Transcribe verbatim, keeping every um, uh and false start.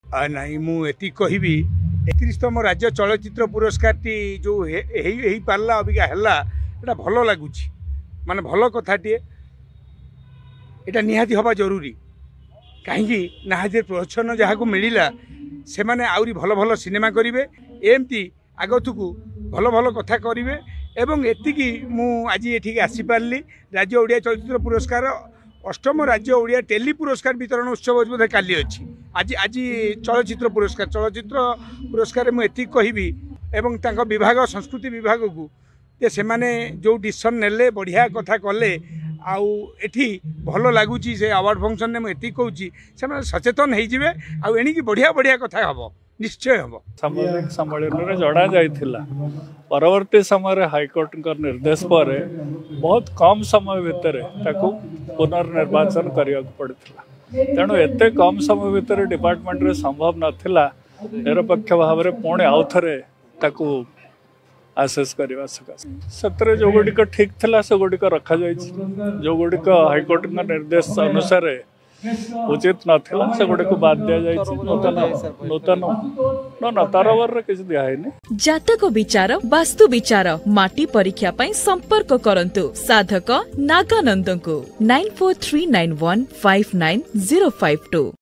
ନାଇଁ, ମୁଁ ଏତିକି କହିବି, ଏକତିରିଶତମ ରାଜ୍ୟ ଚଳଚ୍ଚିତ୍ର ପୁରସ୍କାରଟି ଯେଉଁ ହେଇ ହେଇପାରିଲା, ଅବିକା ହେଲା, ଏଇଟା ଭଲ ଲାଗୁଛି, ମାନେ ଭଲ କଥାଟିଏ। ଏଇଟା ନିହାତି ହେବା ଜରୁରୀ, କାହିଁକି ନା ଯେ ପ୍ରୋତ୍ସାହନ ଯାହାକୁ ମିଳିଲା ସେମାନେ ଆହୁରି ଭଲ ଭଲ ସିନେମା କରିବେ, ଏମିତି ଆଗକୁ ଭଲ ଭଲ କଥା କରିବେ। ଏବଂ ଏତିକି ମୁଁ ଆଜି ଏଠିକି ଆସିପାରିଲି। ରାଜ୍ୟ ଓଡ଼ିଆ ଚଳଚ୍ଚିତ୍ର ପୁରସ୍କାର, ଅଷ୍ଟମ ରାଜ୍ୟ ଓଡ଼ିଆ ଟେଲି ପୁରସ୍କାର ବିତରଣ ଉତ୍ସବ ବୋଧେ କାଲି ଅଛି, ଆଜି ଆଜି ଚଳଚ୍ଚିତ୍ର ପୁରସ୍କାର। ଚଳଚ୍ଚିତ୍ର ପୁରସ୍କାରରେ ମୁଁ ଏତିକି କହିବି ଏବଂ ତାଙ୍କ ବିଭାଗ, ସଂସ୍କୃତି ବିଭାଗକୁ, ଯେ ସେମାନେ ଯେଉଁ ଡିସିସନ୍ ନେଲେ ବଢ଼ିଆ କଥା କଲେ, ଆଉ ଏଠି ଭଲ ଲାଗୁଛି ସେ ଆୱାର୍ଡ଼ ଫଙ୍କସନ୍ରେ। ମୁଁ ଏତିକି କହୁଛି, ସେମାନେ ସଚେତନ ହେଇଯିବେ ଆଉ ଏଣିକି ବଢ଼ିଆ ବଢ଼ିଆ କଥା ହେବ, ନିଶ୍ଚୟ ହେବ। ସାମ୍ବାଦିକ ସମ୍ମିଳନୀରେ ଜଣାଯାଇଥିଲା, ପରବର୍ତ୍ତୀ ସମୟରେ ହାଇକୋର୍ଟଙ୍କ ନିର୍ଦ୍ଦେଶ ପରେ ବହୁତ କମ୍ ସମୟ ଭିତରେ ତାକୁ ପୁନର୍ନିର୍ବାଚନ କରିବାକୁ ପଡ଼ିଥିଲା। ତେଣୁ ଏତେ କମ୍ ସମୟ ଭିତରେ ଡିପାର୍ଟମେଣ୍ଟରେ ସମ୍ଭବ ନଥିଲା ନିରପେକ୍ଷ ଭାବରେ ପୁଣି ଆଉ ଥରେ ତାକୁ ଆସେସ୍ କରିବା ସକାଶେ। ସେଥିରେ ଯେଉଁଗୁଡ଼ିକ ଠିକ୍ ଥିଲା ସେଗୁଡ଼ିକ ରଖାଯାଇଛି, ଯେଉଁଗୁଡ଼ିକ ହାଇକୋର୍ଟଙ୍କ ନିର୍ଦ୍ଦେଶ ଅନୁସାରେ ଉଚିତ ନଥିଲା ସେଗୁଡ଼ିକୁ ବାଦ ଦିଆଯାଇଛି। ନୂତନ ନୂତନ ନା ତରବରରେ କିଛି ଦିଆହେଇନି। ଜାତକ ବିଚାର, ବାସ୍ତୁ ବିଚାର, ମାଟି ପରୀକ୍ଷା ପାଇଁ ସମ୍ପର୍କ କରନ୍ତୁ ସାଧକ ନାଗାନନ୍ଦଙ୍କୁ nine four three nine one five nine zero five two.